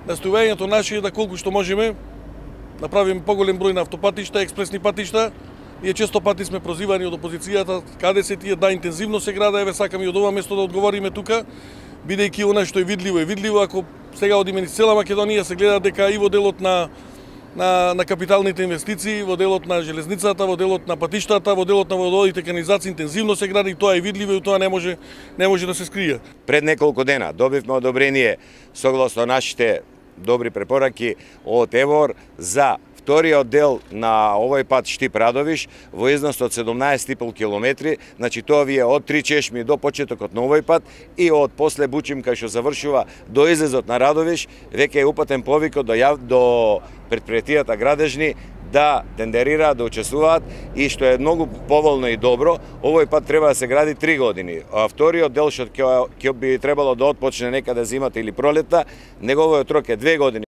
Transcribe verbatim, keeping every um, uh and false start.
Настојувањето наше е да колку што можеме направиме поголем број на автопатишта, експресни патишта. Ние често пати сме прозивани од опозицијата, каде се тие, да, интензивно се града, еве сакам и од ова место да одговориме тука, бидејќи она што е видливо е видливо. Ако сега одиме низ цела Македонија, се гледа дека и во делот на на на капиталните инвестиции, во делот на железницата, во делот на патиштата, во делот на водоводите, канализации интензивно се гради, и тоа е видливо и тоа не може не може да се скрие. Пред неколку дена добивме одобрение согласно нашите добри препораки од ЕВОР за вториот дел на овој пат Штип-Радовиш во износ од седумнаесет и пол километри, значи тоа ви е од Три Чешми до почетокот на овој пат и од после Бучим кај што завршува до излезот на Радовиш, веќе е упатен повикот до, јав... до предпријатијата градежни да тендерираат, да учествуваат, и што е многу поволно и добро, овој пат треба да се гради три години. А вториот дел што ќе би требало да отпочне некаде зимата или пролетта, неговиот рок е две години.